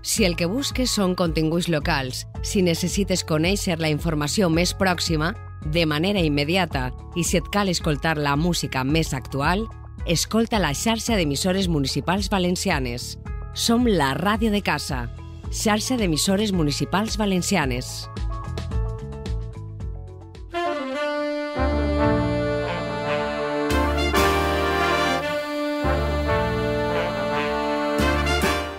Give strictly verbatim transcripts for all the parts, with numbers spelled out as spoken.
Si el que busques són continguts locals, si necessites conèixer la informació més pròxima, de manera immediata, i si et cal escoltar la música més actual, escolta la xarxa d'emissores municipals valencianes. Som la ràdio de casa, xarxa d'emissores municipals valencianes.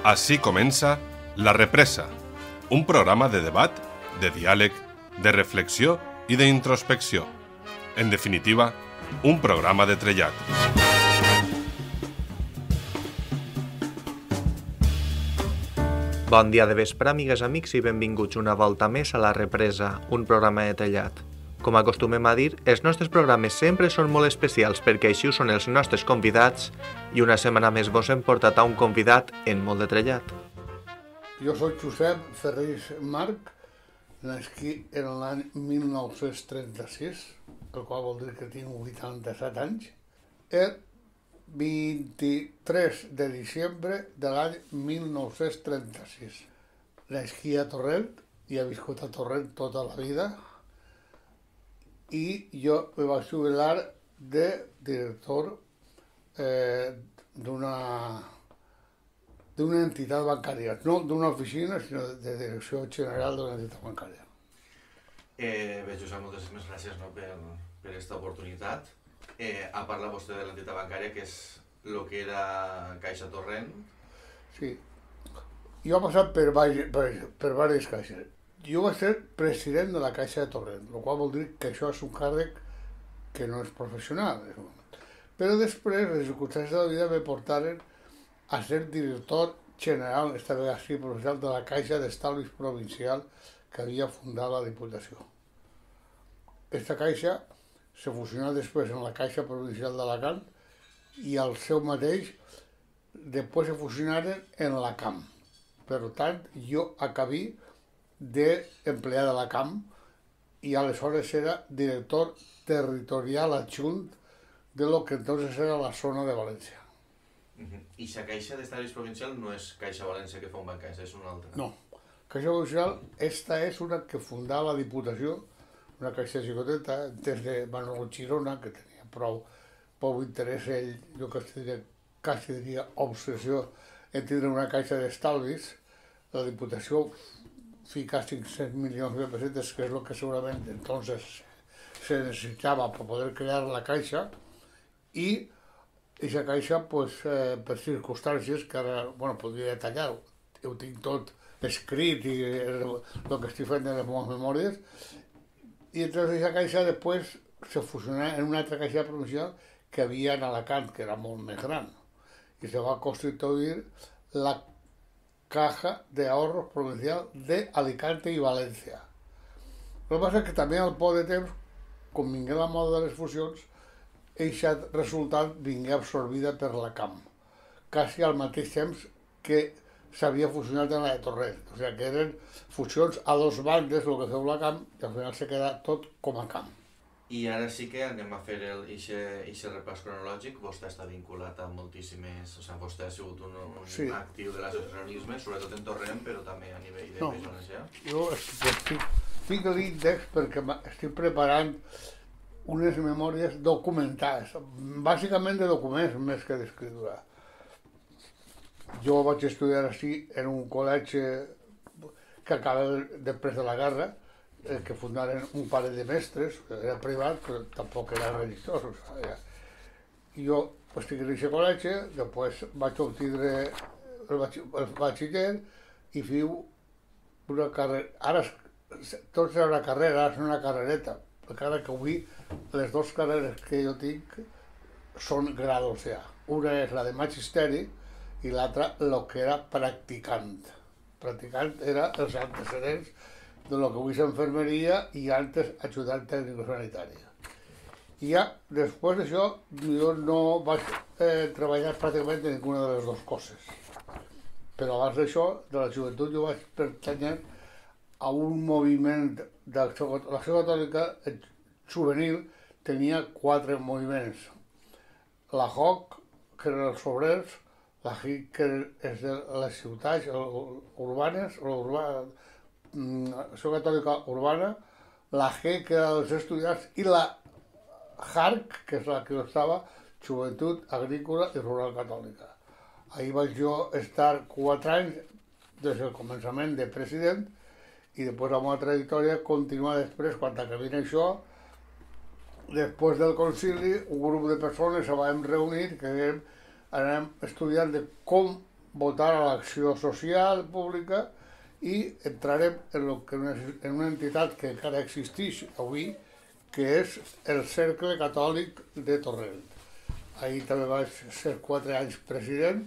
Així comença La Represa, un programa de debat, de diàleg, de reflexió i d'introspecció. En definitiva, un programa de trellat. Bon dia de vespre, amigues, amics, i benvinguts una volta més a La Represa, un programa de trellat. Com acostumem a dir, els nostres programes sempre són molt especials perquè així ho són els nostres convidats i una setmana més vos hem portat a un convidat en molt de trellat. Jo soc Josep Ferrés Marc, nascut en l'any mil nou-cents trenta-sis, el qual vol dir que tinc vuitanta-set anys, el vint-i-tres de desembre de l'any mil nou-cents trenta-sis. Nascut a Torrent i he viscut a Torrent tota la vida i jo me vaig jubilar de director eh, d'una... d'una entitat bancària, no d'una oficina, sinó de direcció general d'una entitat bancària. Eh, bé, Josep, moltes gràcies no, per, per aquesta oportunitat. Eh, a parlar vostè de l'entitat bancària, que és el que era Caixa Torrent. Sí. Jo he passat per, per, per diverses caixes. Jo vaig ser president de la Caixa de Torrent, el qual vol dir que això és un càrrec que no és professional. Però després, les circumstàncies de la vida me portaren a ser director general, esta vegada sí, professional, de la Caixa d'Estalvis Provincial que havia fundat la Diputació. Esta caixa se fusionà després en la Caixa Provincial d'Alacant i al seu mateix després se fusionaren en la C A M. Per tant, jo acabé d'empleat de la C A M i aleshores era director territorial adjunt de lo que entonces era la zona de València. Uh-huh. I la Caixa d'Estalvis Provincial no és Caixa València que fa un bancaixa, és una altra? No. Caixa Provincial, esta és una que fundava la Diputació, una caixa xicoteta, des de Manuel Girona, que tenia prou, prou interès ell, jo quasi diria, quasi diria obsessió en tindre una caixa d'estalvis. La Diputació fica cinc-cents milions de pessetes, que és el que segurament entonces se necessitava per poder crear la caixa, i aquesta caixa, pues, eh, per circumstàncies que ara, bueno, podria detallar-ho, ho tinc tot escrit i el que estic fent de les meves memòries, i entonces aquesta caixa després se fusionà en una altra caixa provincial que havia en Alacant, que era molt més gran, i se va constituir la Caja de Ahorros Provincial de Alicante i València. El que passa és que també al poc de temps, com vingué la moda de les fusions, eixa resultat vingué absorbida per la C A M, quasi al mateix temps que s'havia fusionat en la de Torrent. O sigui que eren fusions a dos bandes, el que feu la C A M, i al final se queda tot com a C A M. I ara sí que anem a fer aquest repàs cronològic. Vostè està vinculat a moltíssimes... O sigui, vostè ha sigut un, un sí. actiu de l'associacionisme, sobretot en Torrent, però també a nivell de no, Bejones, ja? Jo estic, estic a l'índex perquè estic preparant unes memòries documentades, bàsicament de documents més que d'escriptura. Jo vaig estudiar així en un col·legi que acaba després de la guerra, eh, que fundaren un parell de mestres, era privat, però tampoc era religiós. O sigui, jo estic en aquest col·legi, després vaig obtindre el batxiller i fiu una carrera. Ara tot serà una carrera, ara és una carrereta, perquè ara que avui les dues carreres que jo tinc són grados ja. Una és la de magisteri i l'altra el que era practicant. Practicant era els antecedents de lo que avui és infermeria i antes ajudant tècnico sanitari. I ja, després d'això, jo no vaig eh, treballar pràcticament en ninguna de les dues coses. Però abans d'això, de la joventut, jo vaig pertanyar a un moviment de l'Acció Catòlica juvenil, tenia quatre moviments. La J O C, que eren els obrers, la G I C que és de les ciutats urbanes, l'Associació Catòlica Urbana, la G que era dels estudiants i la H A R C, que és la que estava, Joventut Agrícola i Rural Catòlica. Ahir vaig jo estar quatre anys des del començament de president i després la meva trajectòria continua després, quan acabin això, després del concili, un grup de persones se vam reunir que anem estudiant de com votar a l'acció social pública i entrarem en, lo que una, en una entitat que encara existeix avui, que és el Cercle Catòlic de Torrent. Ahir també vaig ser quatre anys president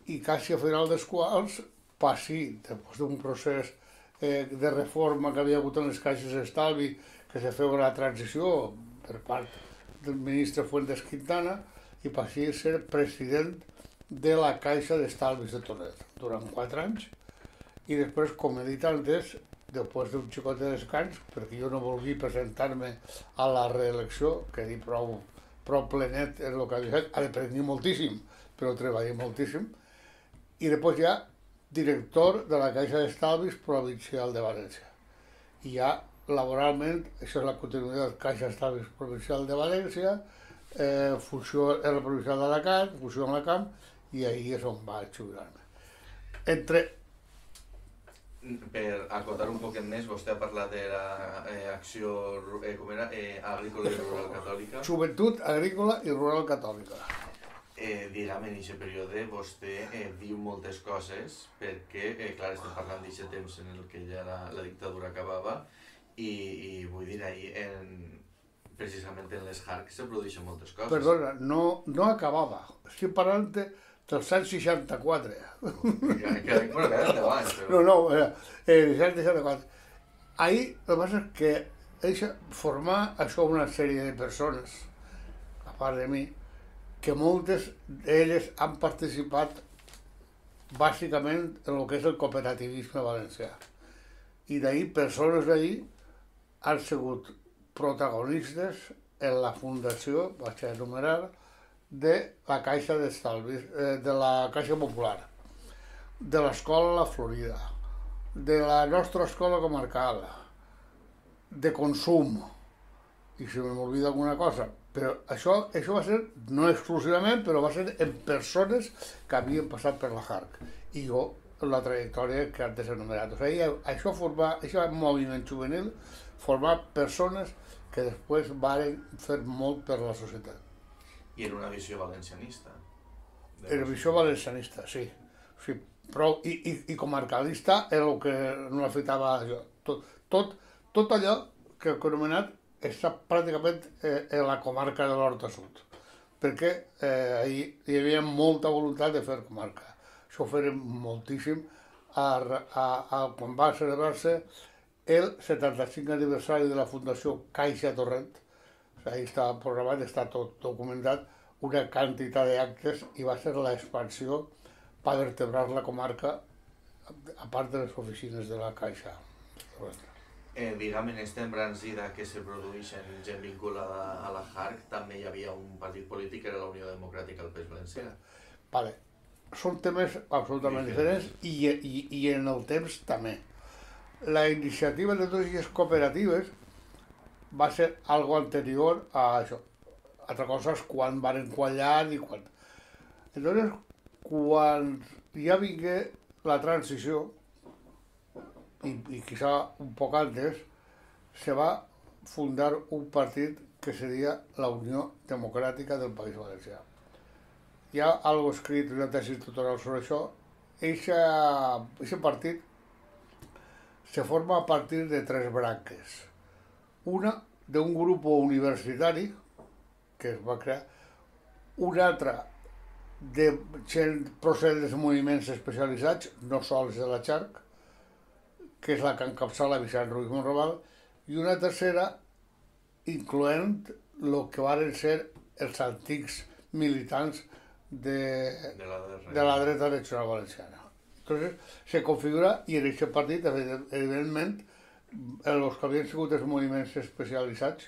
i quasi a final dels quals passi, després d'un procés eh, de reforma que havia hagut en les caixes d'estalvi, que se feu la transició per part del ministre Fuentes Quintana, i passi a ser president de la Caixa d'Estalvis de Torrent durant quatre anys. I després, com he dit antes, després d'un xicot de descans, perquè jo no volgui presentar-me a la reelecció, que he dit prou, prou plenet en el que havia fet, aprendí moltíssim, però treballé moltíssim, i després ja director de la Caixa d'Estalvis Provincial de València. I ja laboralment, això és la continuïtat de Caixa d'Estalvis Provincial de València, eh, funció en la Provincial d'Alacant, funció en Alacant, i ahir és on vaig jubilar-me. Entre Per acotar un poquet més, vostè ha parlat de l'acció eh, com era, eh, agrícola i rural catòlica. Joventut Agrícola i Rural Catòlica. Eh, diguem, en aquest període vostè eh, diu moltes coses perquè, eh, clar, estem parlant d'aquest temps en el que ja la, la dictadura acabava i, i vull dir, ahir, en, precisament en les H A R C se produeixen moltes coses. Perdona, no, no acabava. Estic parlant dels anys seixanta-quatre. Que, que, bueno, que era abans, però... No, no, era eh, seixanta-quatre. Ahir, el que passa és que eixa, formar això una sèrie de persones, a part de mi, que moltes d'elles han participat bàsicament en el que és el cooperativisme valencià. I d'ahir, persones d'ahir han sigut protagonistes en la fundació, vaig a enumerar, de la Caixa d'Estalvis, eh, de la Caixa Popular, de l'Escola La Florida, de la nostra escola comarcal, de Consum, i si m'oblida alguna cosa, però això, això va ser, no exclusivament, però va ser en persones que havien passat per la H A R C, i jo, la trajectòria que antes he enumerat. O sigui, això formar, això moviment juvenil, formar persones que després van fer molt per la societat. I en una visió valencianista. En una visió valencianista, sí. sí però, i, i, I comarcalista era el que no afectava jo. Tot, tot, tot allò que he anomenat està pràcticament eh, en la comarca de l'Horta Sud, perquè eh, hi, hi havia molta voluntat de fer comarca. Això ho farem moltíssim a, a, a, quan va celebrar-se el setanta-cinc aniversari de la Fundació Caixa Torrent. Ahí està programat, està tot documentat, una quantitat d'actes i va ser l'expansió per vertebrar la comarca, a part de les oficines de la Caixa. Eh, diguem, en aquesta embranzida que se produeix en gent vinculada a la H A R C, també hi havia un partit polític que era la Unió Democràtica al País Valencià. Vale. Són temes absolutament diferents i, i, i en el temps també. La iniciativa de totes les cooperatives va ser algo anterior a això. Altra cosa és quan van quallar i quan... Entonces, quan ja vingué la transició, i, i quizá un poc antes, se va fundar un partit que seria la Unió Democràtica del País Valencià. Hi ha algo escrit, una tesi tutorial sobre això. Eixe partit se forma a partir de tres branques. Una d'un grup universitari que es va crear, una altra de gent procedent dels moviments especialitzats, no sols de la H A R C, que és la que encapçala Vicent Ruiz Monraval, i una tercera incloent el que van ser els antics militants de, de, la, de la dreta nacional valenciana. Entonces, se configura, i en aquest partit, evidentment, els que havien sigut els moviments especialitzats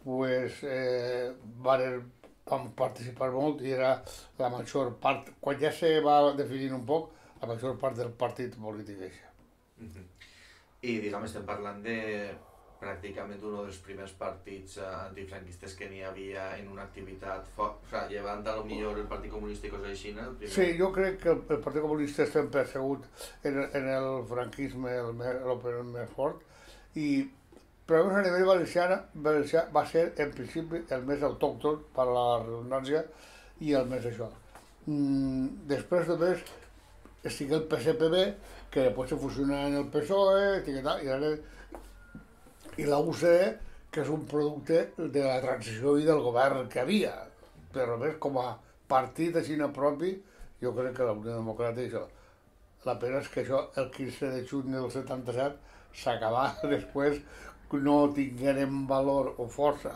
pues, eh, van vam participar molt i era la major part, quan ja se va definir un poc, la major part del partit polític això. Uh-huh. I diguem, estem parlant de pràcticament un dels primers partits antifranquistes que n'hi havia en una activitat, o sigui, llevant a lo millor el Partit Comunista i coses així, no? Sí, jo crec que el, el Partit Comunista sempre ha sigut en, en el franquisme el, el més fort, i però a nivell valencià, valencià va ser en principi el més autòcton per la redundància i el més això. Mm, després de més estigui el P S P B, que després se fusiona en el P S O E, i, ara, i la U C D, que és un producte de la transició i del govern que havia. Però més com a partit així propi, jo crec que la Unió Democràtica això. La pena és que això el quinze de juny del setanta-set s'acabà després, no tinguérem valor o força.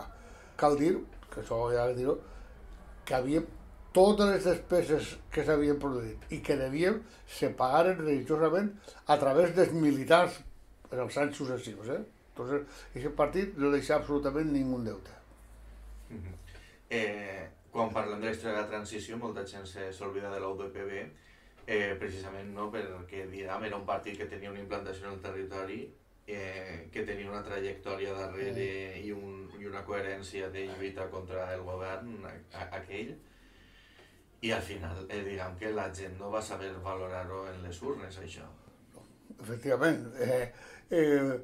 Cal dir, que això ja ho dir, que havia totes les despeses que s'havien produït i que devien se pagaren religiosament a través dels militars en els anys successius. Eh? Entonces, aquest partit no deixa absolutament ningú deute. Uh-huh. eh, quan parlem de la història de la transició, molta gent s'oblida de la U D P B, eh, precisament no, perquè diguem, era un partit que tenia una implantació en el territori, Eh, que tenia una trajectòria darrere i, un, i una coherència de lluita contra el govern a, a, aquell, i al final eh, diguem que la gent no va saber valorar-ho en les urnes, això. Efectivament. Eh, eh,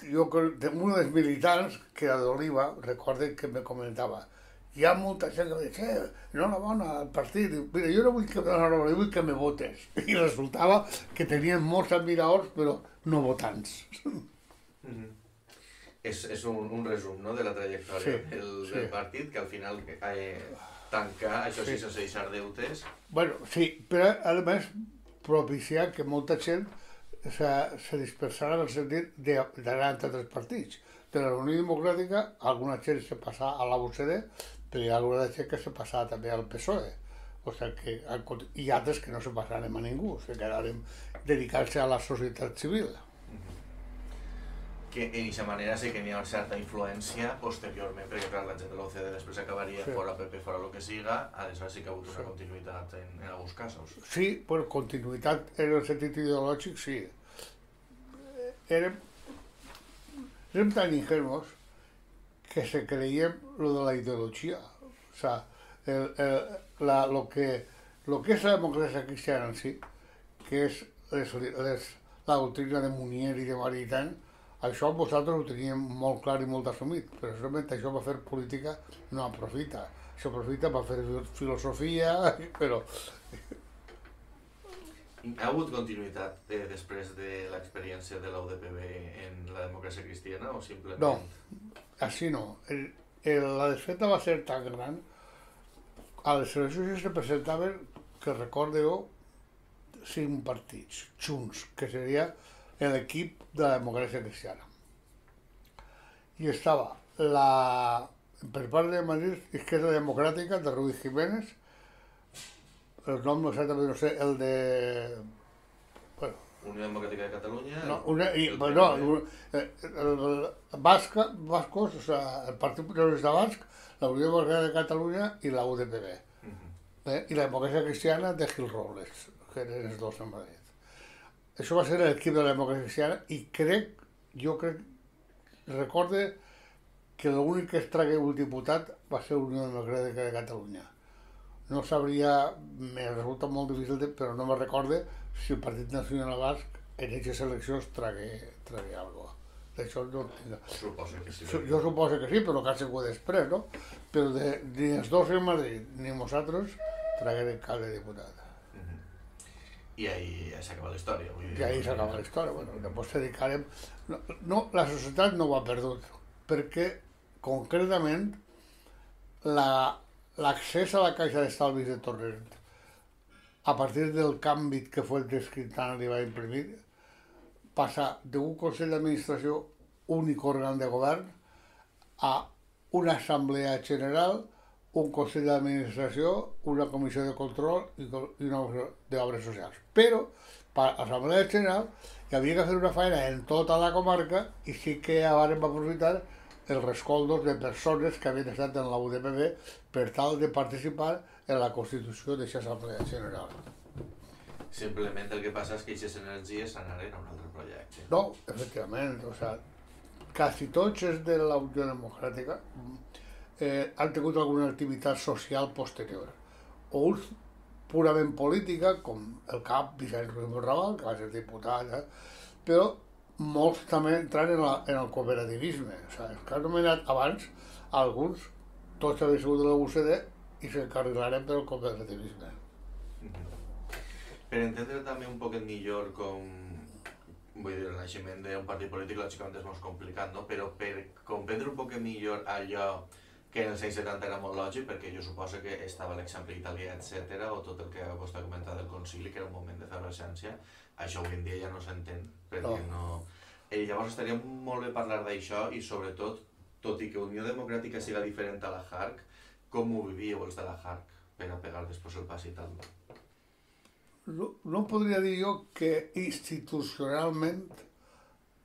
jo, un dels militants que era d'Oliva, recorden que me comentava, hi ha molta gent que diu, eh, enhorabona al partit, mira, jo no vull que, no, vull que me votes. I resultava que tenien molts admiradors, però no votants. Mm-hmm. És, és un, un resum, no?, de la trajectòria sí, del, sí. del partit, que al final eh, tancar, això sí, sense deixar deutes. Bueno, sí, però a més propiciar que molta gent se, se dispersara en el sentit d'anar entre altres partits. De la Unió Democràtica, alguna gent se passà a la U C D, però hi ha alguna gent que se passava també al P S O E. O sigui que hi ha altres que no se passarem a ningú, se quedarem dedicant-se a la societat civil. Que en aquesta manera sí que n'hi ha una certa influència posteriorment, perquè clar, la gent de la U C D després acabaria sí. fora P P, fora el que siga, aleshores sí que ha hagut una sí. continuïtat en, en alguns casos. Sí, però continuïtat en el sentit ideològic, sí. Érem, érem tan ingenuos que se creiem lo de la ideologia. O sea, el, el, la, lo, que, lo que és la democràcia cristiana en si, que és les, les, la doctrina de Munier i de Maritain, això vosaltres ho teníem molt clar i molt assumit, però realment això va fer política no aprofita. Això aprofita per fer filosofia, però... Ha hagut continuïtat eh, després de l'experiència de la U D P B en la democràcia cristiana o simplement... No, així no. El, el, la desfeta va ser tan gran. A les eleccions se presentaven, que recordeu, cinc partits, junts, que seria l'equip de la democràcia cristiana. I estava la, per part de Madrid, Izquierda Democràtica, de Ruiz Jiménez, el nom exactament no sé, el de... Bueno, Unió Democràtica de Catalunya... No, una, i, el, no el, el, el Basca, Bascos, o sea, el Partit Progressista Basc, la Unió Democràtica de Catalunya i la U D P B. Uh-huh. eh? I la democràcia cristiana de Gil Robles, que eren els dos en Madrid. Això va ser l'equip de la democràcia cristiana i crec, jo crec, recorde que l'únic que es tragué un diputat va ser la Unió Democràtica de Catalunya. No sabria, me resulta molt difícil, de, però no me recorde si el Partit Nacional Basc en aquestes eleccions tragué, tragué alguna cosa. D'això no tinc... Suposo que sí. Jo suposo que sí, però que ha sigut després, no? Però de, ni els dos en Madrid ni nosaltres traguérem cap de diputat. I ahí s'acaba la història. Vull dir... I ahí s'acaba la història. Bueno, després dedicarem... No, no, la societat no ho ha perdut, perquè concretament la, l'accés a la caixa d'estalvis de Torrent, a partir del canvi que fue el Descriptant li va imprimir, passa d'un Consell d'Administració únic òrgan de govern a una assemblea general, un Consell d'Administració, una comissió de control i una comissió d'obres socials. Però, per l'Assemblea General, hi havia que fer una feina en tota la comarca i sí que ja vam aprofitar els rescoldos de persones que havien estat en la U D P B per tal de participar en la constitució d'aquesta Assemblea General. Simplement el que passa és que aquestes energies s'anaren a un altre projecte. No, efectivament, o sea, quasi tots els de la Unió Democràtica eh, han tingut alguna activitat social posterior. O uns purament política, com el cap Vicent Ruiz Monraval, que va ser diputat, eh? Però molts també entran en, la, en el cooperativisme. O sigui, els que han nomenat abans, alguns, tots havien sigut de la U C D i s'encarrilaren pel cooperativisme. Mm-hmm. Per entendre també un poquet millor com, vull dir, el naixement d'un partit polític lògicament és molt complicat, no? Però per comprendre un poquet millor allò que en els anys setanta era molt lògic, perquè jo suposo que estava l'exemple italià, etcètera, o tot el que vostè ha comentat del concili, que era un moment d'efervescència, això avui en dia ja no s'entén, perquè no... I llavors estaria molt bé parlar d'això i sobretot, tot i que Unió Democràtica siga diferent a la J A R C, com ho vivíeu els de la J A R C per a pegar després el pas i tal? No, no podria dir jo que institucionalment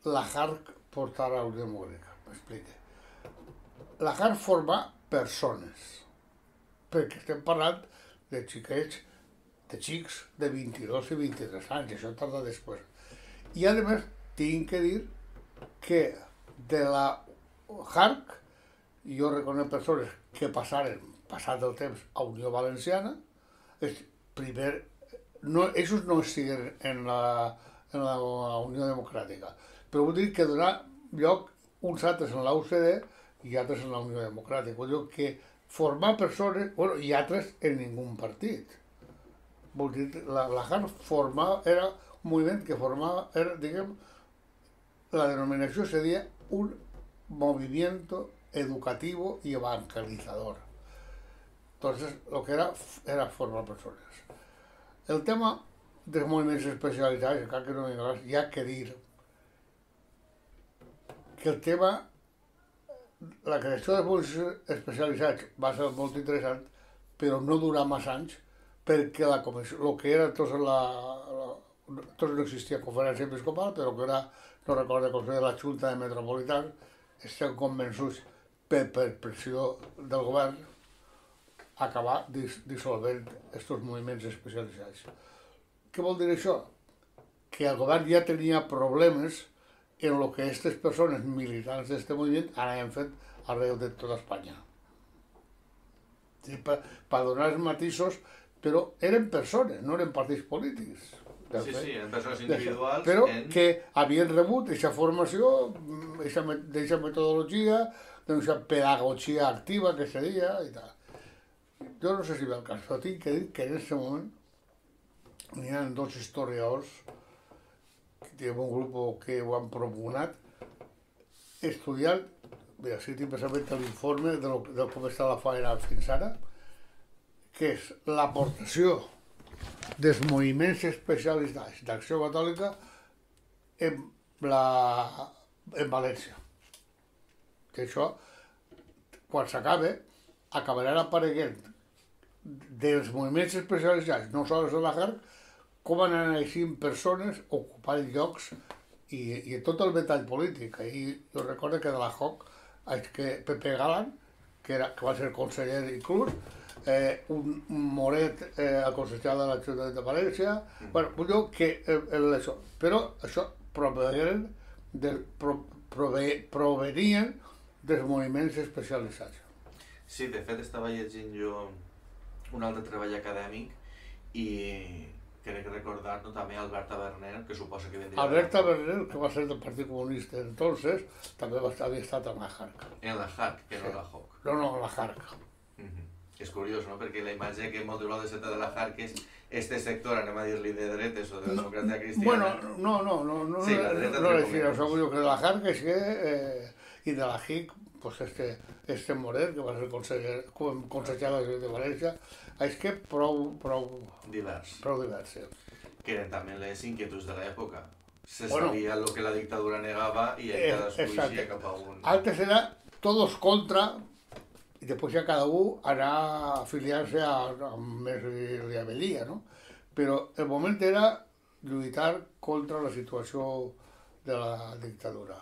la J A R C portara a Unió Democràtica, m'explique. La J A R C forma persones, perquè estem parlant de xiquets, de xics de vint-i-dos i vint-i-tres anys, això tarda després. I a més, tinc que dir que de la J A R C jo reconec persones que passaren, passat el temps, a Unió Valenciana, és primer, no, ells no estiguen en la, en la Unió Democràtica, però vull dir que donar lloc uns altres en la U C D i altres en la Unió Democràtica. Vull dir que formar persones, bueno, i altres en ningú partit. Vull dir, la, la J A R C formava, era un moviment que formava, era, diguem, la denominació seria un movimiento educativo y evangelizador. Entonces, lo que era, era formar persones. El tema dels moviments especialitzats, encara que no m'hi hi ha que dir que el tema, la creació de moviments especialitzats va ser molt interessant, però no durà massa anys, perquè la comissió, el que era tot la, la tot no existia conferència episcopal, però que era, no recordo com se deia, la Junta de Metropolitans, estem convençuts per, per pressió del govern acabar dis, dissolvent aquests moviments especialitzats. Què vol dir això? Que el govern ja tenia problemes en el que aquestes persones militants d'aquest moviment anaven fet arreu de tota Espanya. Sí, per, per donar els matisos, però eren persones, no eren partits polítics. Sí, sí, eren persones individuals. Però en... que havien rebut aquesta formació, aquesta metodologia, d'aquesta pedagogia activa que se deia i tal. Jo no sé si ve el cas, però tinc que dir que en aquest moment hi ha dos historiadors, que hi ha un grup que ho han propugnat, estudiant, bé, així tinc precisament l'informe de, de com està la faena fins ara, que és l'aportació dels moviments especialitzats d'Acció Catòlica en, la, en València. Que això, quan s'acabe, acabaran apareguent dels moviments especialitzats, no sols de la J A R C, com han anat persones ocupant llocs i, i tot el metall polític. I jo recordo que de la J O C, és que Pepe Galán, que, era, que va ser conseller inclús, eh, un, un Moret, eh, el conseller de l'Ajuntament de València, mm. bueno, vull dir que eh, això, però això provenien, del, pro, prove, provenien dels moviments especialitzats. Sí, de fet estava llegint jo un altre treball acadèmic i crec recordar no, també Alberta Berner, que suposa que vendria... Alberta Berner, que va ser del Partit Comunista entonces, també va estar, havia estat en la J A R C. En la J A R C, que sí. No la J O C. No, no, en la J A R C. Uh -huh. És curiós, no?, perquè la imatge que molt de de la J A R C és este sector, anem a dir-li de dretes o de la democràcia cristiana. Bueno, no, no, no, no, sí, la dreta no, no, no, no, no, que de la J A R C és que, eh, i de la J I C, pues este, este Moret, que va ser conseller, conseller de València, és que prou, prou... Divers. Prou divers, sí. Que eren també les inquietuds de l'època. Se bueno, sabia el que la dictadura negava i eh, cadascú eixia cap a un... Antes era todos contra i després ja cada un anar a afiliar-se a, a més li avelia, no? Però el moment era lluitar contra la situació de la dictadura.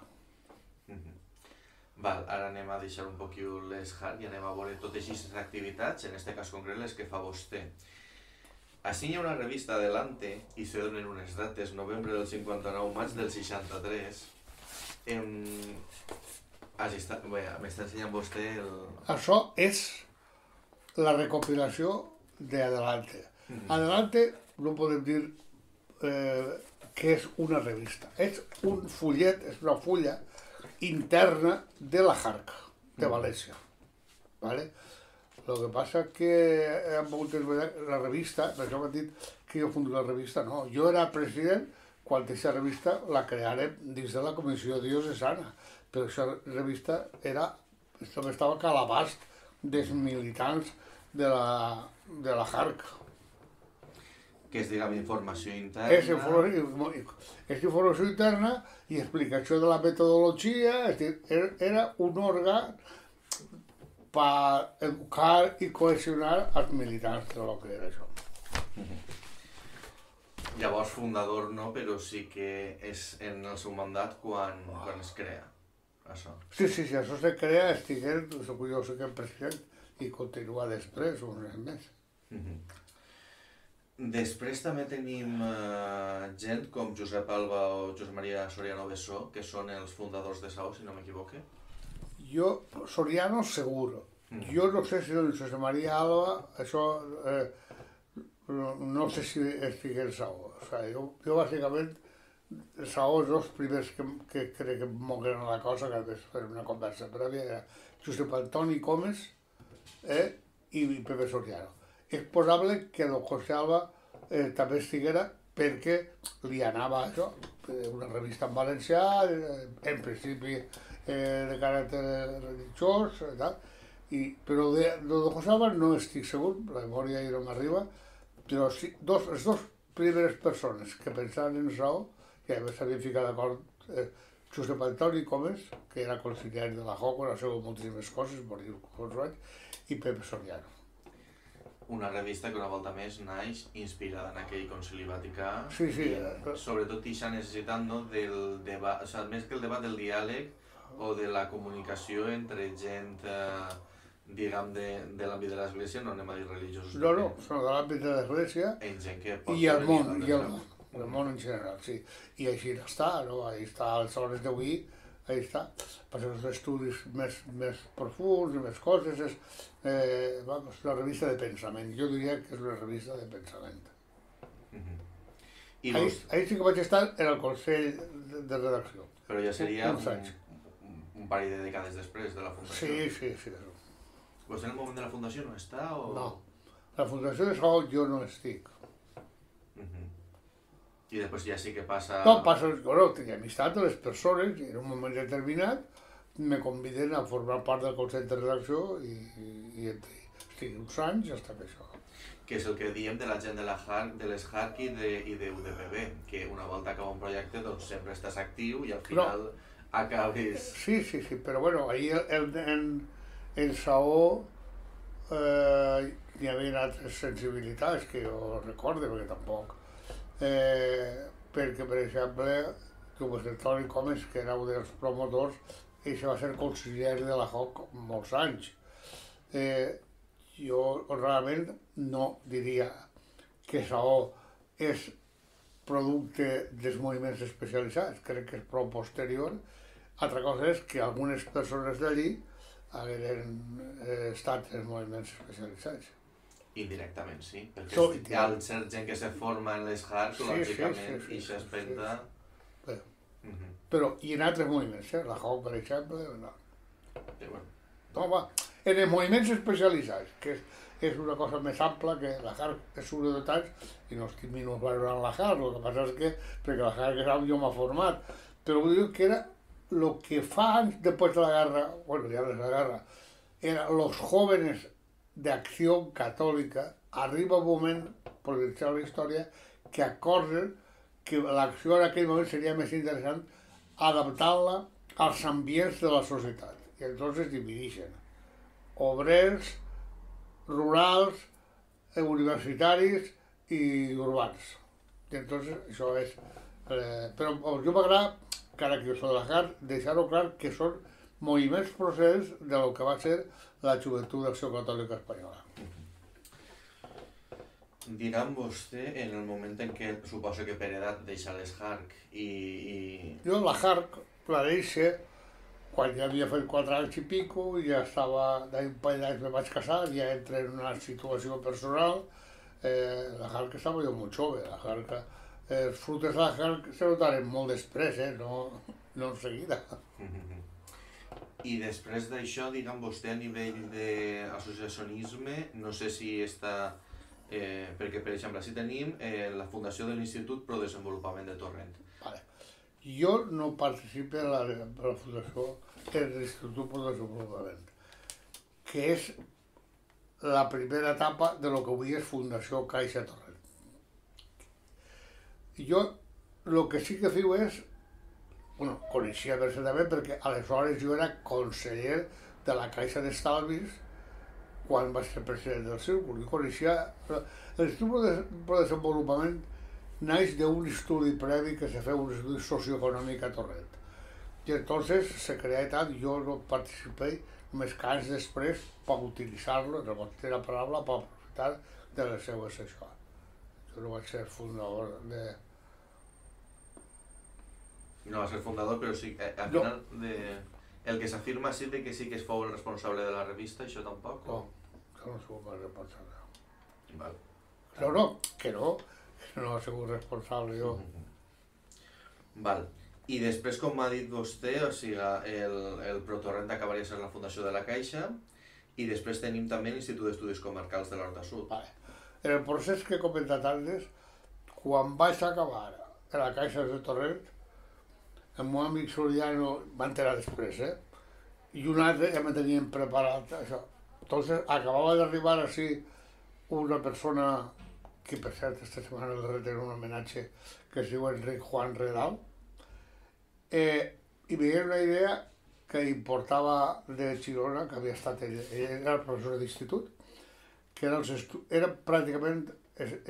Mm-hmm. Val, ara anem a deixar un poquil les hard i anem a veure totes aquestes activitats, en este cas concret les que fa vostè. Així hi ha una revista Adelante i se donen unes dates, novembre del cinquanta-nou, maig del seixanta-tres. Em... Ah, sí, està... m'està ensenyant vostè el... Això és la recopilació d'Adelante. Mm. Adelante no podem dir eh, que és una revista. És un fullet, és una fulla interna de la Jarc, de València. ¿Vale? Lo que passa que han pogut veure la revista, per això m'han dit que jo fundo la revista, no. Jo era president quan aquesta revista la crearem dins de la Comissió Diocesana, però aquesta revista era, estava a l'abast dels militants de la, de la Jarc. Que és, diguem, informació interna. És informació, és informació interna i explicació de la metodologia, és dir, era un òrgan per educar i cohesionar els militants de lo que era això. Llavors, fundador no, però sí que és en el seu mandat quan, quan es crea, això. Sí, sí, sí, això se crea, estiguem, jo soc el president i continua després, un mes més. Després també tenim uh, gent com Josep Alba o Josep Maria Soriano Bessó, que són els fundadors de S A O, si no m'equivoque. Jo, Soriano seguro. Mm. Jo no sé si el Josep Maria Alba, això, eh, no, no sé si estigui en S A O. O sea, jo, jo bàsicament, S A O és els primers que, que crec que moguen la cosa, que és fer una conversa prèvia, era Josep Antoni Comes eh, i Pepe Soriano. És possible que el José Alba eh, també estiguera perquè li anava això, una revista en valencià, eh, en principi eh, de caràcter religiós, eh, tal. I, però de, de José Alba no estic segur, la memòria ja no m'arriba, però sí, dos, les dues primeres persones que pensaven en S A O, que a més s'havien ficat d'acord, eh, Josep Antoni Comes, que era consellari de la J O C, ha sigut moltíssimes coses, morir uns anys, i Pepe Soriano. Una revista que una volta més naix inspirada en aquell concili vaticà, sí, sí, i sobretot ixa necessitat no, del debat, o sigui, més que el debat del diàleg o de la comunicació entre gent, eh, diguem, de, de l'àmbit de l'església, no anem a dir religiosos. No, no, són de l'àmbit de l'església i el món, i el món, el món en general, sí. I així està, no? Ahí està, a les hores d'avui, ahí està. Per als estudis més, més profunds i més coses, és eh, vamos, una revista de pensament. Jo diria que és una revista de pensament. Uh-huh. I ahí, los... ahí sí que vaig estar en el Consell de, de Redacció. Però ja seria un, un, un parell de dècades després de la fundació. Sí, sí, sí. Pues en el moment de la fundació no està o...? No, la fundació de S A O jo no estic. Uh-huh. I després ja sí que passa... No, passa, bueno, tenia amistat a les persones i en un moment determinat me conviden a formar part del Consell de Redacció i, i, i estic uns anys hasta que això. Que és el que diem de la gent de, la Harc, de les Harc i de, i de U D P B, que una volta acaba un projecte doncs sempre estàs actiu i al final no. acabes... Sí, sí, sí, però bueno, ahir el, en, en S A O eh, hi havia altres sensibilitats que jo recorde, perquè tampoc... Eh, perquè, per exemple, com el Toni Comes, que era un dels promotors, ell va ser conseller de la J O C molts anys. Eh, jo realment no diria que S A O és producte dels moviments especialitzats, crec que és prou posterior. Altra cosa és que algunes persones d'allí hagueren eh, estat en moviments especialitzats. Indirectament, sí, perquè so, hi ha cert gent que se forma en les Harc, sí, lògicament, sí, sí, sí, i s'espenta... Sí, sí. Uh -huh. Però i en altres moviments, eh? La J O C, per exemple, no. Sí, bueno. No, va, en els moviments especialitzats, que és, és una cosa més ampla que la Harc és un de tants, i no estic minusvalorant la Harc, el que passa és que, perquè la Harc és on jo m'ha format, però vull dir que era el que fa anys després de la guerra, bueno, ja des de la guerra, era los jóvenes de Acció Catòlica, arriba un moment, per dir la història, que acorden que l'acció en aquell moment seria més interessant adaptant-la als ambients de la societat. I entonces es divideixen obrers, rurals, universitaris i urbans. I entonces això és... Eh, però jo m'agrada, encara que jo soc de la Harc, deixar-ho clar que són moviments procés de lo que va ser la Joventut d'Acció Catòlica Espanyola. Digue'm vostè, en el moment en què suposo que per edat deixa les H A R C i... i... Jo la H A R C la deixo quan ja havia fet quatre anys i pico, ja estava, d'un parell d'anys me vaig casar, ja entré en una situació personal, eh, la H A R C estava jo molt jove, la H A R C, eh, els fruits de la H A R C se notaren molt després, eh, no, no en seguida. I després d'això, digue'm vostè, a nivell d'associacionisme, no sé si està... Eh, perquè, per exemple, si tenim eh, la fundació de l'Institut Pro Desenvolupament de Torrent. Vale. Jo no participo en la, en la fundació de l'Institut Pro Desenvolupament, que és la primera etapa de lo que avui és Fundació Caixa Torrent. Jo el que sí que fiu és, bueno, coneixia perfectament perquè aleshores jo era conseller de la Caixa d'Estalvis quan va ser president del Círcul. Jo coneixia... L'Institut de Desenvolupament naix d'un estudi previ que se feu, un estudi socioeconòmic a Torrent. I entonces se crea i tal, jo no participé només que anys després per utilitzar-lo, en el bon de la paraula, per aprofitar de les seues això. Jo no vaig ser fundador de... No va ser fundador, però sí, eh, al No. final de... el que s'afirma sí de que sí que es fou el responsable de la revista, això tampoc? No, això no sóc pas responsable. Val. No, no, que no, que no he sigut responsable jo. Val. I després, com m'ha dit vostè, o sigui, el, el Protorrent acabaria sent la fundació de la Caixa i després tenim també l'Institut d'Estudis Comarcals de l'Horta Sud. Vale. En el procés que he comentat antes, quan vaig acabar a la Caixa de Torrent, el meu amic Soriano va enterar després, eh? I un altre ja me tenien preparat això. Entonces acabava d'arribar així una persona que, per cert, esta setmana li retenen un homenatge, que es diu Enric Juan Redal, eh, i me veia una idea que importava de Girona, que havia estat ell, ell era el professor d'institut, que eren, eren pràcticament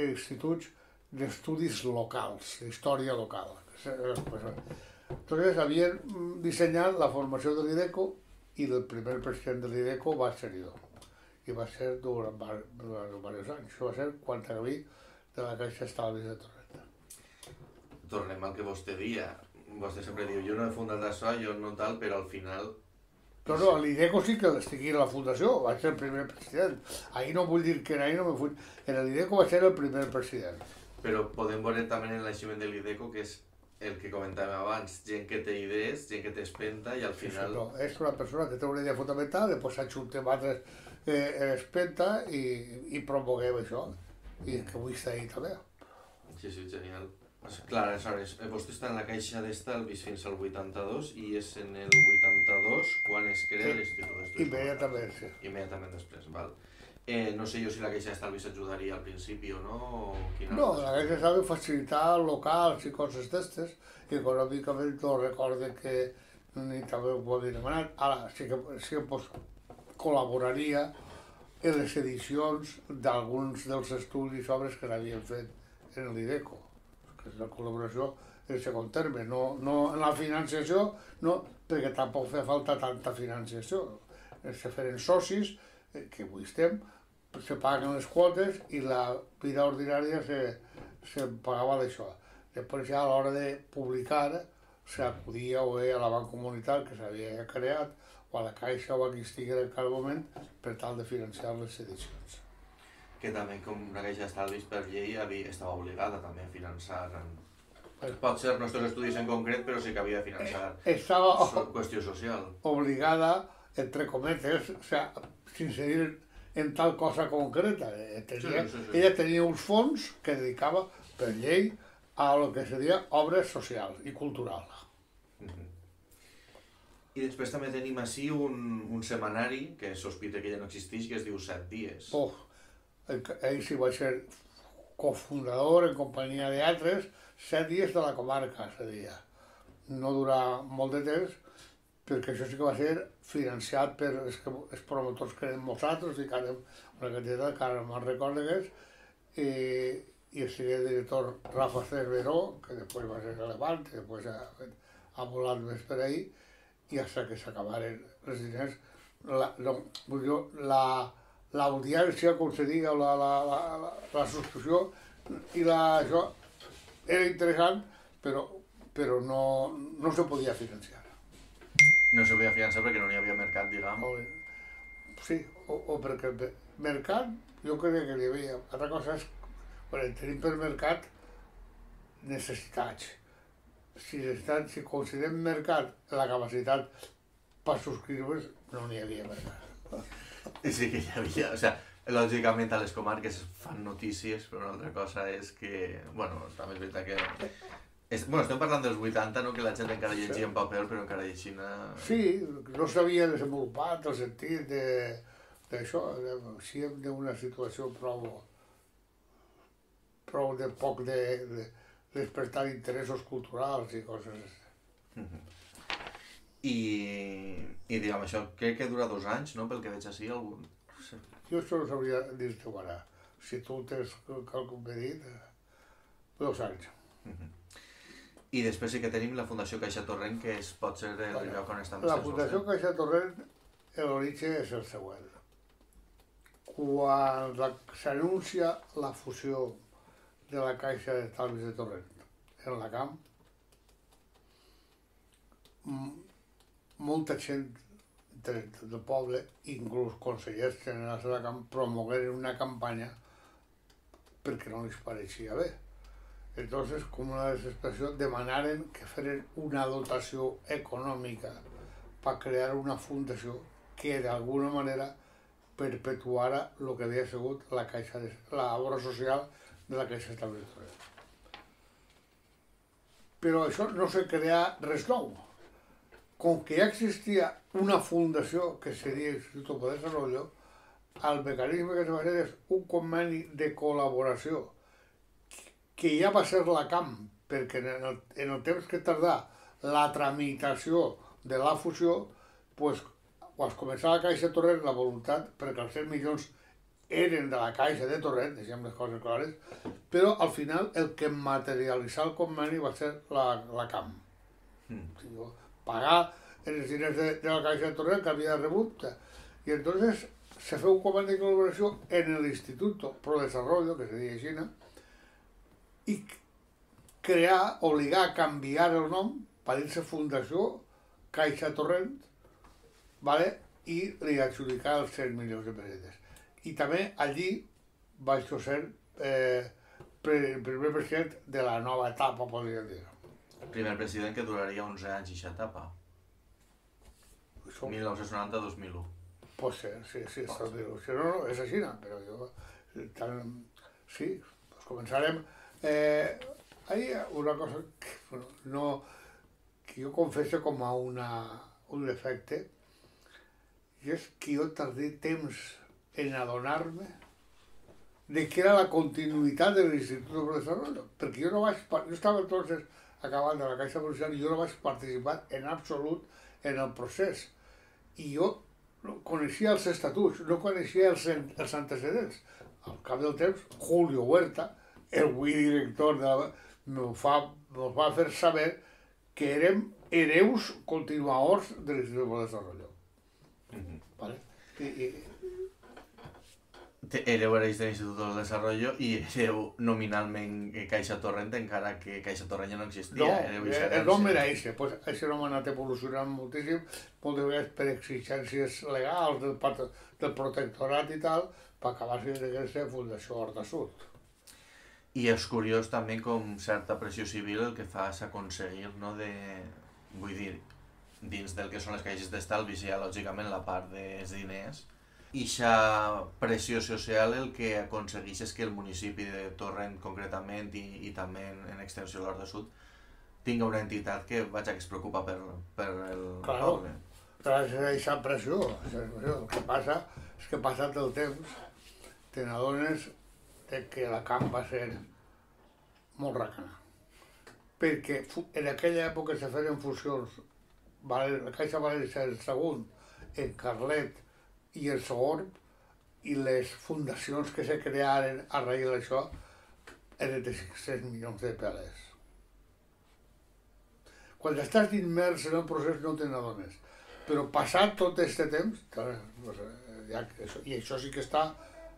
instituts d'estudis locals, d'història local. Entonces havien dissenyat la formació de l'IDECO i el primer president de l'IDECO va ser jo. I va ser durant, durant diversos anys. Això va ser quan acabí de la Caixa Estalvis de Torrent. Tornem al que vostè dia. Vostè sempre diu, jo no he fundat això, jo no tal, però al final... No, no, a l'IDECO sí que estigui a la fundació, vaig ser el primer president. Ahir no vull dir que ahir no me fui... En l'IDECO va ser el primer president. Però podem veure també en el naixement de l'IDECO, que és el que comentàvem abans, gent que té idees, gent que té espenta i al final... Sí, no, és una persona que té una idea fonamental, després s'ajuntem altres eh, espenta i, i promoguem això. I que vull estar ahí també. Sí, sí, genial. Clar, aleshores, vostè està en la Caixa d'Estalvis fins al vuitanta-dos i és en el vuitanta-dos quan es crea l'Institut d'Estudis Immediatament, sí. Immediatament després, val. Eh, no sé jo si la Caixa d'Estalvis ajudaria al principi o no, o quina... No, la Caixa d'Estalvis facilitar locals i coses d'estes, i econòmicament no recorde que ni també ho havia demanat. Ara sí que, sí que pues, col·laboraria en les edicions d'alguns dels estudis i obres que l'havien fet en l'IDECO, que és la col·laboració en segon terme, no, no en la financiació, no, perquè tampoc fa falta tanta financiació. Se feren socis, eh, que avui estem, se paguen les quotes i la vida ordinària se, se pagava d'això. Després ja a l'hora de publicar s'acudia o bé a la banca comunitat que s'havia creat o a la Caixa o a qui estigui en cada moment per tal de financiar les edicions. Que també com una Caixa d'Estalvis per llei havia, estava obligada també a finançar en... Pot ser els nostres estudis en concret, però sí que havia de finançar Estava so, qüestió social. Obligada, entre cometes, o sea, sense dir en tal cosa concreta. Tenia, sí, sí, sí. Ella tenia uns fons que dedicava per llei a lo que seria obres socials i culturals. Mm-hmm. I després també tenim així un, un setmanari, que sospita que ja no existeix, que es diu Set Dies. Oh, ell sí va ser cofundador en companyia d'altres, Set Dies de la comarca, se deia. No durà molt de temps, perquè això sí que va ser financiat per els, que, els promotors que eren nosaltres, i que ara una quantitat que ara me'n recordo que és, i, i el seria director Rafa Cerveró, que després va ser relevant, que després ha, ha volat més per ahí, i fins que s'acabaren els diners, la, no, vull dir, la, l'audiència, com se diga, la, la, la, la, la subscripció i la, això era interessant, però, però no, no se podia financiar. No se podia finançar perquè no hi havia mercat, diguem. Sí, o, o perquè el mercat, jo crec que hi havia. Altra cosa és, bueno, tenim per mercat necessitats. Si, estan, si considerem mercat la capacitat per subscriure's, no n'hi havia mercat. Sí que hi havia, o sea, lògicament a les comarques fan notícies, però una altra cosa és que, bueno, també és veritat que... És, bueno, estem parlant dels vuitanta, no? Que la gent encara llegia en paper, però encara llegint... Sí, no s'havia desenvolupat el sentit de d'això, sí, d'una situació prou... prou de poc de, de despertar interessos culturals i coses així. Mm-hmm. I, i diguem, això crec que dura dos anys, no? Pel que veig així, algun... Sí. Jo això no sabria dir-te ara. Si tu tens quelcom que dit, dos anys. Mm-hmm. I després sí que tenim la Fundació Caixa Torrent, que es pot ser el Vale. lloc on estan La Fundació Caixa Torrent, l'origen és el següent. Quan s'anuncia la fusió de la Caixa d'Estalvis de Torrent en la Camp, molta gent del, del poble, inclús consellers generals de la Camp, promogueren una campanya perquè no els pareixia bé. Entonces, com una desesperació, demanaren que feren una dotació econòmica per crear una fundació que d'alguna manera perpetuara el que havia sigut la caixa de, la obra social de la Caixa d'Estalvis de Torrent. Però això no se crea res nou. Com que ja existia una fundació que seria l'Instituto de Desarrollo, el mecanisme que es va fer és un conveni de col·laboració que ja va ser la Camp, perquè en el, en el temps que tardà la tramitació de la fusió, pues, quan començava la Caixa de Torrent, la voluntat, perquè els cent milions eren de la Caixa de Torrent, deixem les coses clares, però al final el que materialitzà el conveni va ser la, la Camp. Mm. Pagar els diners de, de la Caixa de Torrent que havia rebut, i entonces se feu un conveni de col·laboració en l'Instituto Pro Desarrollo, que se deia així, i crear, obligar a canviar el nom per dir-se Fundació Caixa Torrent, vale? I li adjudicar els cent milions de pessetes. I també allí vaig ser eh, el primer president de la nova etapa, podríem dir. El primer president que duraria onze anys aquesta etapa. mil nou-cents noranta a dos mil u. Pot ser, sí, sí, està dir Si no, no, és així, però jo... Tan, sí, doncs començarem... Eh, hay una cosa que, bueno, no, que jo confesso com a una, un defecte, i és que jo tardé temps en adonar-me de que era la continuïtat de l'Institut de Desarrollo, perquè jo no vaig, jo estava entonces acabant de la Caixa Social i jo no vaig participar en absolut en el procés. I jo coneixia els estatuts, no coneixia els, els antecedents. Al cap del temps, Julio Huerta, el avui director de la... Nos fa, nos va fer saber que érem hereus continuadors de l'Institut de Desarrollo. Mm-hmm. ¿Vale? I, i... Éreu hereus de l'Institut de Desarrollo i éreu nominalment Caixa Torrent, encara que Caixa Torrent ja no existia. No, el nom era eixe. Pues, eixe nom ha anat evolucionant moltíssim, moltes vegades per exigències legals del, del protectorat i tal, per acabar sent Fundació Horta Sud. I és curiós també com certa pressió civil el que fa és aconseguir, no, de... vull dir, dins del que són les caixes d'estalvis hi ha lògicament la part dels diners, i aquesta pressió social el que aconsegueix és que el municipi de Torrent concretament i, i també en, en extensió l'Horta Sud tinga una entitat que, vaja, que es preocupa per, per el claro, poble. Gràcies a aquesta pressió, el que passa és que passat el temps te n'adones de que la Camp va ser molt racana. Perquè en aquella època se feien fusions, la Caixa va ser el segon en Carlet i el segon, i les fundacions que se crearen a raïs d'això eren de cinc-cents milions de pelers. quan estàs immers en el procés no te n'adones. Però passat tot aquest temps, clar, pues, ja, això, i això sí que està,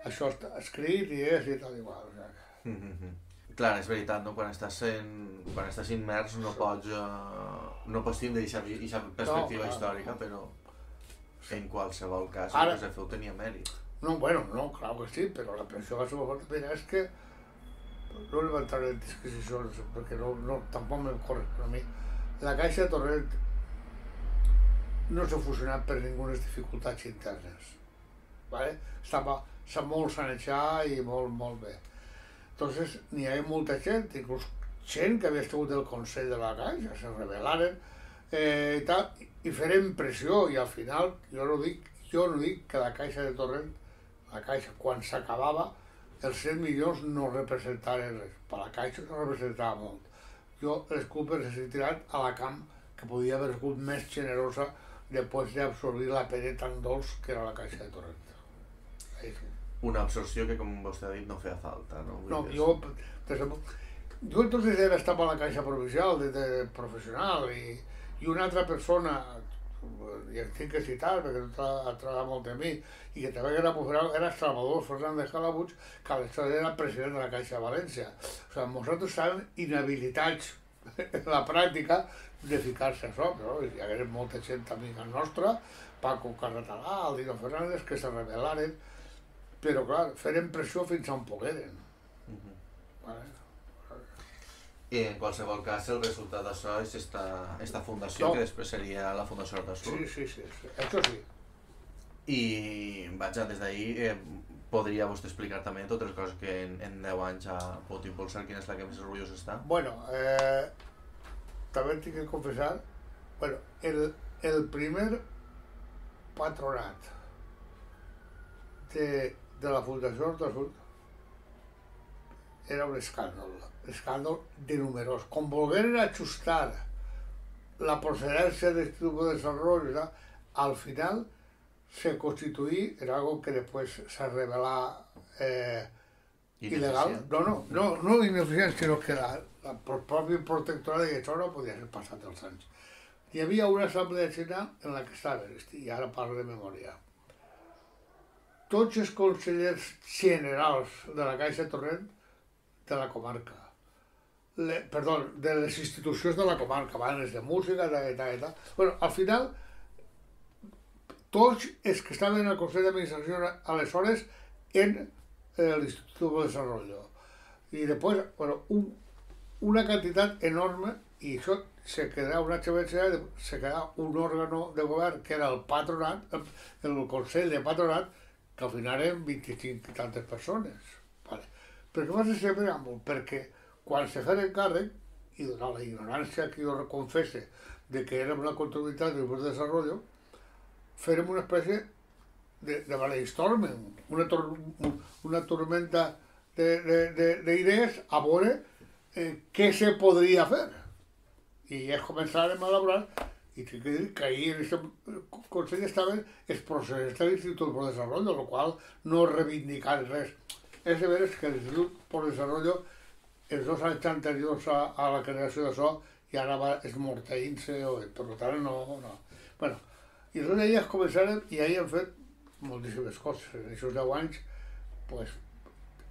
això està escrit i és i tal igual. O sigui. Mm-hmm. Clar, és veritat, no? Quan estàs, en, quan estàs immers no pots, uh, no pots tindre aquesta perspectiva no, històrica, però en qualsevol cas el que se feu tenia mèrit. No, bueno, no, clar que sí, però la pensió que se va fer mira, és que no li va entrar en disquisicions, perquè no, no, tampoc me corre a mi. La Caixa de Torrent no s'ha fusionat per ningunes dificultats internes. ¿Vale? Estava, està molt sanejat i molt, molt bé. Entonces, n'hi havia molta gent, inclús gent que havia estat del Consell de la Caixa, se rebel·laren eh, i tal, i farem pressió, i al final, jo no dic, jo no dic que la Caixa de Torrent, la Caixa, quan s'acabava, els cent milions no representaven res. Per la Caixa no representava molt. Jo les culpes les he tirat a la Camp, que podia haver sigut més generosa després d'absorbir la pere tan dolç que era la Caixa de Torrent. Sí. Una absorció que, com vostè ha dit, no feia falta, no? No, jo, jo entonces era, estava a la Caixa Provincial de, de professional i, i una altra persona, i el tinc que citar perquè ha treballat molt de mi, i que també era professional, era Salvador Fernández Calabuig, que aleshores era president de la Caixa de València. O sigui, nosaltres estàvem inhabilitats en la pràctica de ficar-se a això, però hi hagués molta gent amiga nostra, Paco Carretalà, Aldino Fernández, que se rebel·laren, però clar, feren pressió fins on pogueren. Uh-huh. Vale. I en qualsevol cas el resultat d'això és esta, esta fundació, no. Que després seria la Fundació Horta Sud. Sí, sí, sí, sí, això sí. I vaja, des d'ahir eh, podria vostè explicar també totes les coses que en, en deu anys ha pogut impulsar, quina és la que més orgullós està? Bueno, eh, també tinc que confessar, bueno, el, el primer patronat de, de la Fundació Horta Sud era un escàndol, escàndol de numerós. Com volgueren ajustar la procedència de Instituto de Desarrollo, al final se constituí en algo que después se revelà eh, il·legal. No, no, no, no ineficient, sinó que la, la, el propi protectorat de això no podia ser passat els anys. Hi havia una assemblea general en la que estaven, i ara parlo de memòria, tots els consellers generals de la Caixa Torrent de la comarca, Le, perdó, de les institucions de la comarca, bandes de música, tal, tal, tal. Bueno, al final, tots els que estaven al Consell d'Administració aleshores en l'Instituto de Desarrollo. Y después, bueno, un, una cantidad enorme, y això se quedà una H B C, se quedà un òrgano de govern que era el patronat, el, el Consell de Patronat, que al final eren vint-i-cinc i tantes persones. Vale. Per què va ser sempre àmbol? Perquè quan se feien càrrec, i donant la ignorància que jo confesse de que érem la continuïtat del Grup de Desarrollo, fèrem una espècie de, de brainstorming, una, tor una tormenta d'idees a veure eh, què se podria fer. I ja començàrem a elaborar, i tinc que dir que ahir en aquest Consell estaven els processos de l'Institut de Desarrollo, el qual no reivindicar res. És de veres que l'Institut de Desarrollo els dos anys anteriors a, a la creació d'això ja anava esmorteint-se, per tant no, no. Bueno, i llavors elles començaren i ahir han fet moltíssimes coses. En aquests deu anys, pues,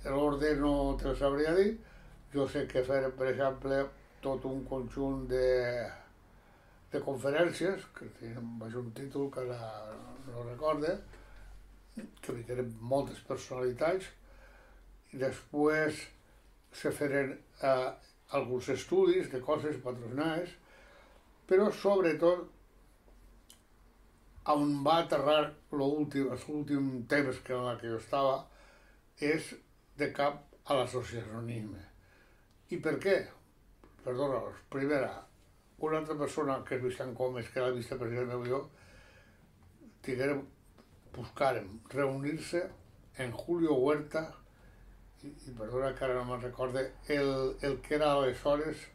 l'ordre no te ho sabria dir. Jo sé que fer, per exemple, tot un conjunt de, de conferències, que tenen un títol que ara no recorde, que hi tenen moltes personalitats, i després se feren eh, alguns estudis de coses patrocinades, però sobretot on va aterrar els últims temps que en la que jo estava és de cap a l'associacionisme. I per què? Perdona, primera, una altra persona que és Vicent Gómez, que era el vicepresident meu i jo, tinguérem, buscàrem reunir-se en Julio Huerta, i, i perdona que ara no me'n recorde, el, el que era aleshores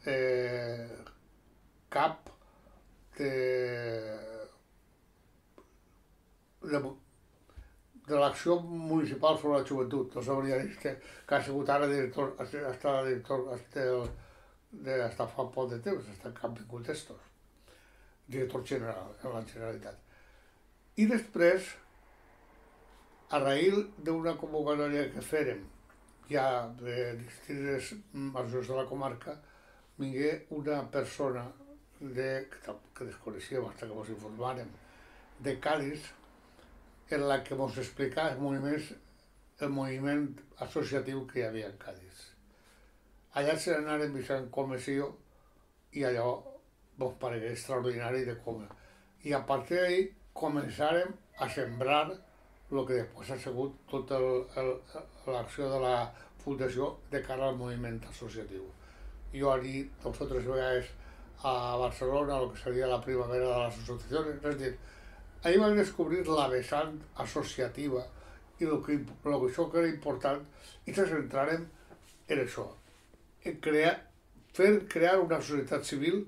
eh, cap de, de, de l'acció municipal sobre la joventut. No sabria dir que, que ha sigut ara director, ha estat director del, d'estar fa poc de temps, està en Campi Contestos, director general en la Generalitat. I després, a raïl d'una convocatòria que fèrem ja de distintes majors de la comarca, vingué una persona de, que desconeixíem fins que ens informàrem, de Cádiz, en la que ens explicava els moviments, el moviment associatiu que hi havia en Cádiz. Allà se n'anaren visant comissió i allò ens paregué extraordinari de com. I a partir d'ahí començàrem a sembrar el que després ha sigut tota l'acció de la fundació de cara al moviment associatiu. Jo allí dos o tres vegades a Barcelona, el que seria la primavera de les associacions, és a dir, ahí vam descobrir la vessant associativa i el que, el que això que era important, i ens centrarem en això, en crear, fer crear una societat civil,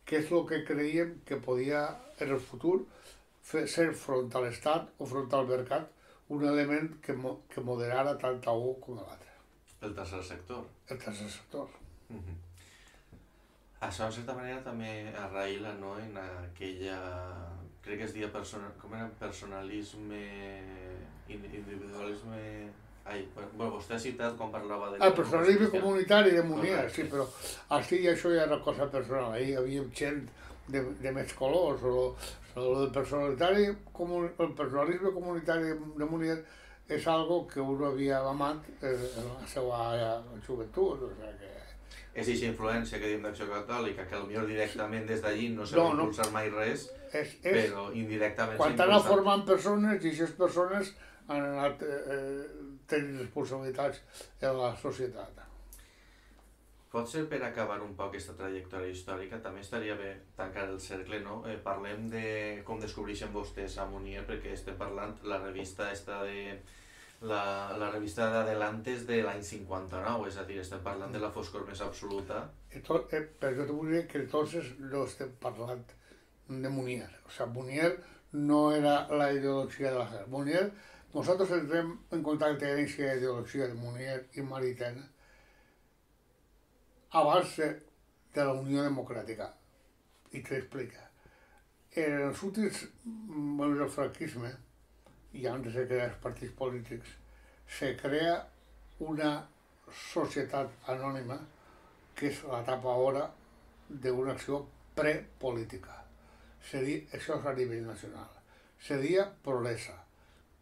que és el que creiem que podia en el futur fer, ser front a l'Estat o front al mercat un element que, mo, que moderara tant a un com a l'altre. El tercer sector. El tercer sector. Uh-huh. Això, en certa manera, també arraïla, no?, en aquella... Crec que es deia persona... com era? Personalisme... individualisme... Ai, bueno, vostè ha citat quan parlava de... El personalisme comunitari de Munier, sí, però així això ja era cosa personal. Ahí hi havia gent de, de més colors, o, o el personalitari, el personalisme comunitari de Munier és algo que uno havia amat en la seva joventut, o sigui que... És aquesta influència que diem d'Acció Catòlica, que potser directament des d'allí no s'ha no, impulsat no. mai res, és, és, però indirectament s'ha impulsat. Quan t'han formant persones, i aquestes persones han anat eh, tenint responsabilitats en la societat. Potser per acabar un poc aquesta trajectòria històrica, també estaria bé tancar el cercle, no? Eh, parlem de com descobreixen vostès a Munier, perquè estem parlant, la revista està de... La, la revista d'Adelantes de l'any cinquanta-nou, és a dir, estem parlant de la foscor més absoluta. Tot, eh, però jo vull dir que entonces no estem parlant de Munier. O sea, Munier no era la ideologia de la guerra. Munier, nosaltres entrem en contacte amb aquesta ideologia de Munier i Maritain abans de, de la Unió Democràtica. I t'explica. En els últims moments del franquisme, i antes de crear els partits polítics, se crea una societat anònima que és l'etapa ara d'una acció prepolítica. Això és a nivell nacional. Seria Prolesa,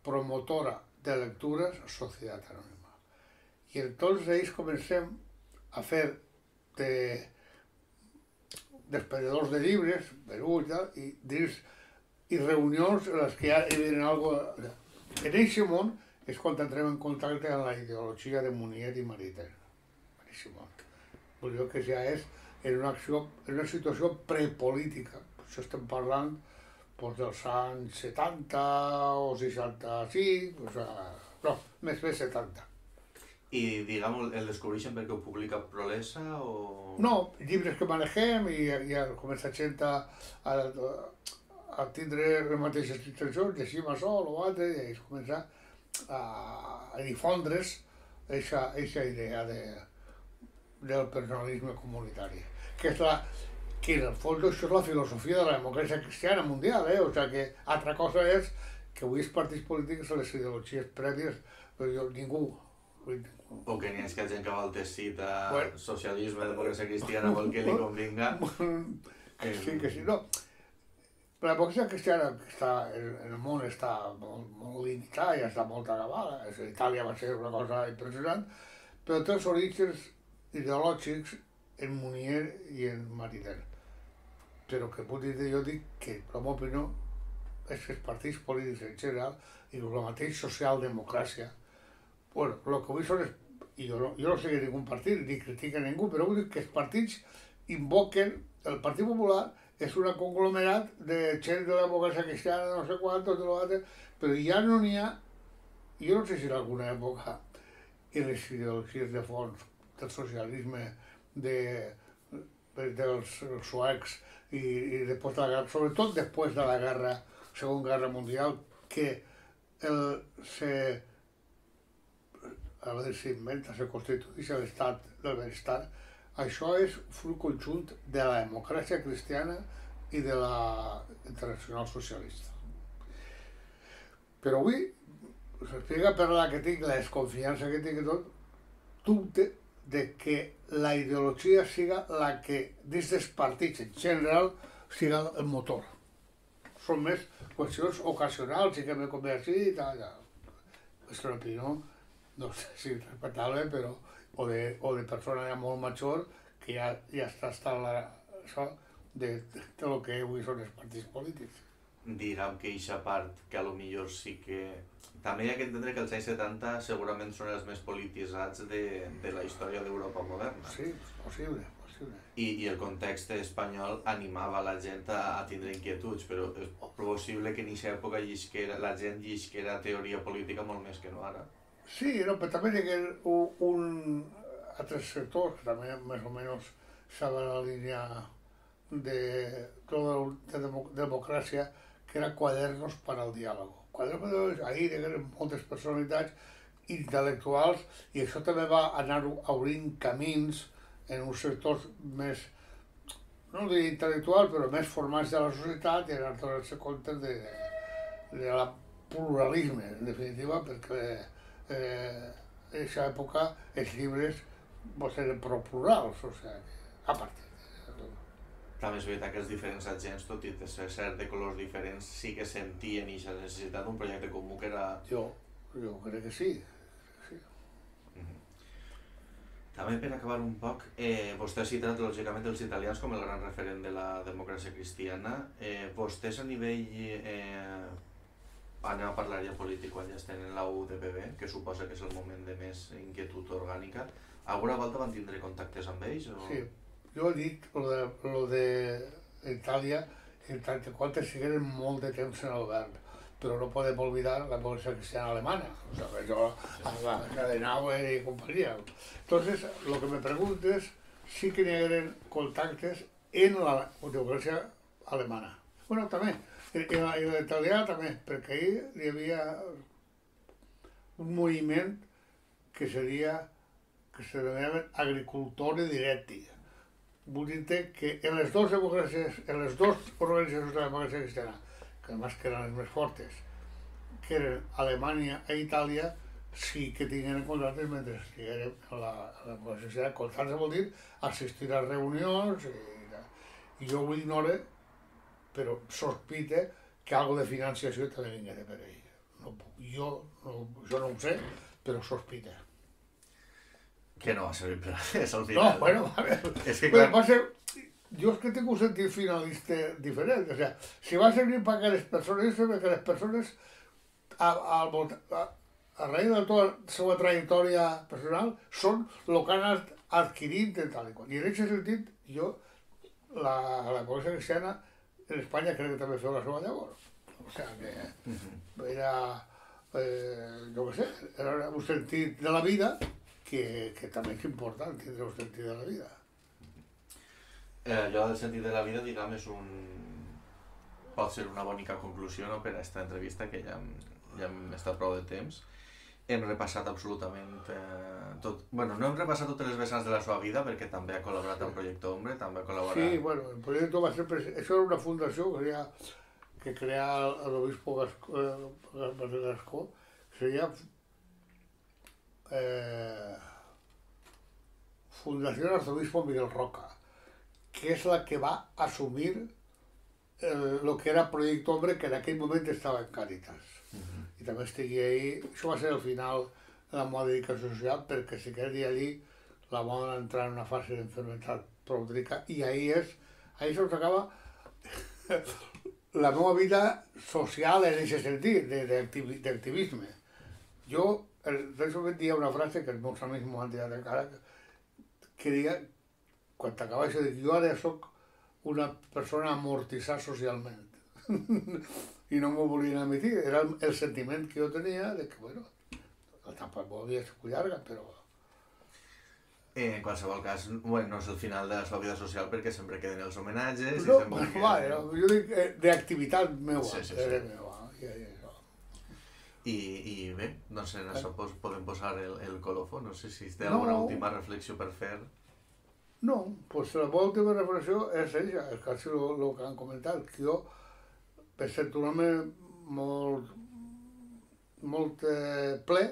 promotora de lectures, Societat Anònima. I entonces ells comencem a fer de despedidors de llibres, Perú i tal, i dins i reunions en les que ja hi havia algo... En aquest món és quan entrem en contacte amb la ideologia de Munier i Maritain. En aquest món. Vull dir que ja és en una, acció, en una situació prepolítica. Per això estem parlant doncs, dels anys setanta o seixanta-cinc, o sigui, no, més bé setanta. I, diguem, el descobreixen perquè ho publica Prolesa o...? No, llibres que manegem i, i comença gent a, a, a tindre les mateixes intencions, llegim això o l'altre, i es comença a, a difondre's aquesta idea de, del personalisme comunitari, que és la, que en el fons això és la filosofia de la democràcia cristiana mundial, eh? O sigui que altra cosa és que avui els partits polítics són les ideologies prèvies, però jo, ningú, ningú. O que n'hi ha que gent que vol teixit a bueno, socialisme, democràcia cristiana, vol que li convinga. Que sí, que sí, no. La democràcia cristiana que està, en el món està molt, molt limitada, ja està molt acabada. Itàlia va ser una cosa impressionant, però té els orígens ideològics en Munier i en Maritain. Però que puc dir, jo dic que, per la meva opinió, és que els partits polítics en general i la mateixa socialdemocràcia, bueno, el que vull són, i jo no, jo no sé ningú partit, ni critica ningú, però vull dir que els partits invoquen, el Partit Popular és un conglomerat de gent de la democràcia cristiana, no sé quant, tot l'altre, però ja no n'hi ha, jo no sé si en alguna època, en les ideologies de fons del socialisme, de, de, dels suecs, i, i després de la guerra, sobretot després de la guerra, Segona Guerra Mundial, que el, se, a veure si inventa, se constitueix l'estat del benestar, això és fruit conjunt de la democràcia cristiana i de la internacional socialista. Però avui s'explica per la que tinc, la desconfiança que tinc i tot, dubte de que la ideologia siga la que, dins dels partits en general, siga el motor. Són més qüestions ocasionals i que me convé així i tal, ja. És que l'opinió, no sé si és respectable, però o de, o de persona ja molt major que ja, ja està estant la, això de, de, de lo que avui són els partits polítics. Diguem que eixa part que a lo millor sí que... També hi ha que entendre que els anys setanta segurament són els més polititzats de, de la història d'Europa moderna. Sí, possible, possible. I, I el context espanyol animava la gent a, a tindre inquietuds, però és possible que en aquesta època llisquera, la gent llisquera teoria política molt més que no ara. Sí, no, però també hi ha un, un altres sectors que també més o menys saben la línia de, de, de democràcia, que era Cuadernos para el Diálogo. Cuadernos, ahir hi ha moltes personalitats intel·lectuals i això també va anar obrint camins en uns sectors més, no diria intel·lectuals, però més formats de la societat i anar donant-se compte de, de la pluralisme, en definitiva, perquè eh, en aquesta època els llibres eren prou plurals, o sigui, a partir. També és veritat que els diferents agents, tot i ser cert de colors diferents, sí que sentien aquesta necessitat d'un projecte comú que era... Jo, jo crec que sí. sí. Mm-hmm. També per acabar un poc, eh, vostè ha citat lògicament els italians com el gran referent de la democràcia cristiana. Eh, vostès a nivell... Eh, anem a parlar ja polític quan ja estem en la U D P B, que suposa que és el moment de més inquietud orgànica. Alguna volta van tindre contactes amb ells? O... Sí. Jo he dit lo de, lo de Itàlia, en tant que quantes sigueren molt de temps en el govern, però no podem oblidar la democràcia cristiana alemana, o sea, yo, la Adenauer i companyia. Entonces, lo que me preguntes, sí que hi hagueren contactes en la democràcia alemana. Bueno, també, en l'italià també, perquè ahí hi havia un moviment que seria, que se denominaven agricultores diretti. Vull dir que en les dues democràcies, en les dues organitzacions de la democràcia cristiana, que además que eren les més fortes, que eren Alemanya i Itàlia, sí que tingueren contactes mentre estigueren en la, la democràcia cristiana. Contactes vol dir assistir a reunions, i, i jo ho ignore, però sospite que algo de financiació també vinguera per ell. No, jo, no, jo no ho sé, però sospite. Que no va servir per res, al final. No, bueno, a veure, és que, clar... va ser, jo és que tinc un sentit finalista diferent, o sea, si va servir per que les persones, perquè les persones, a, a, a, a raïs de tota la seva trajectòria personal, són el que han anat adquirint de tal i qual. I en aquest sentit, jo, la, la democràcia cristiana, en Espanya crec que també feu la seva llavor. O sigui que era, eh, jo què sé, era un sentit de la vida Que, que també és important tindre un sentit de la vida. Eh, allò del sentit de la vida, diguem, és un... pot ser una bonica conclusió, no?, per a aquesta entrevista, que ja hem, ja hem estat prou de temps. Hem repassat absolutament eh, tot... Bueno, no hem repassat totes les vessants de la seva vida, perquè també ha col·laborat amb Projecte Hombre, també ha col·laborat... Sí, bueno, el Projecte va ser... Això era una fundació que crea, que crea l'obispo Gascó, eh, Gascó, que seria... Eh, Fundació Arzobispo Miguel Roca, que és la que va assumir el, lo que era Projecte Hombre, que en aquell moment estava en Càritas. Uh-huh. I també estigui ahí, això va ser el final de la meva dedicació social, perquè si queria dir allí la meva entrar en una fase d'enfermetat pròdrica, i ahí és, ahí se us acaba la meva vida social en aquest sentit, d'activisme. Jo, en moment dia una frase que els meus amics m'ho han tirat encara, que deia, quan t'acaba això, que jo ara soc una persona amortitzada socialment. I no m'ho volien admetir, era el, el sentiment que jo tenia de que, bueno, tampoc havia sigut llarga, però... En qualsevol cas, bueno, no és el final de la seva vida social perquè sempre queden els homenatges... No, i sempre bueno, vale, no, jo dic eh, d'activitat meva, sí, sí, sí. sí. meva. I, i, I, I bé, no sé, en això podem posar el, el colofó, no sé si té alguna no. última reflexió per fer. No, doncs la meva última reflexió és això, és quasi el que han comentat, que jo, per ser un home molt, molt eh, ple,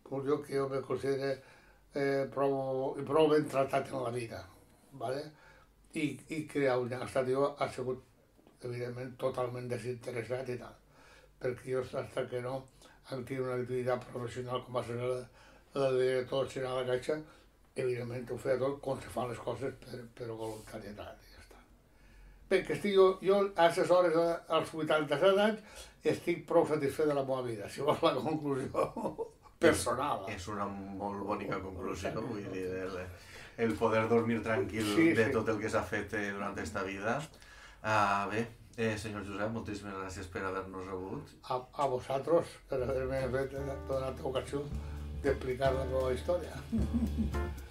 doncs jo que jo me considero eh, prou, prou ben tractat en la vida, ¿vale? I, i crear un estat jo ha sigut, evidentment, totalment desinteressat i tal, perquè jo, fins que no hem tingut una activitat professional com va ser la, la director general de la Caixa, evidentment ho feia tot com se fan les coses per, per voluntarietat i ja està. Bé, que estic jo, jo a aquestes hores, als vuitanta-set anys, estic prou satisfet de la meva vida, si vols la conclusió personal. És, és una molt bonica conclusió, vull dir, el, el poder dormir tranquil sí, de sí. tot el que s'ha fet eh, durant aquesta vida. Uh, bé, eh, senyor Josep, moltíssimes gràcies per haver-nos rebut. A, a vosaltres per haver-me donat l'ocasió d'explicar la meva història.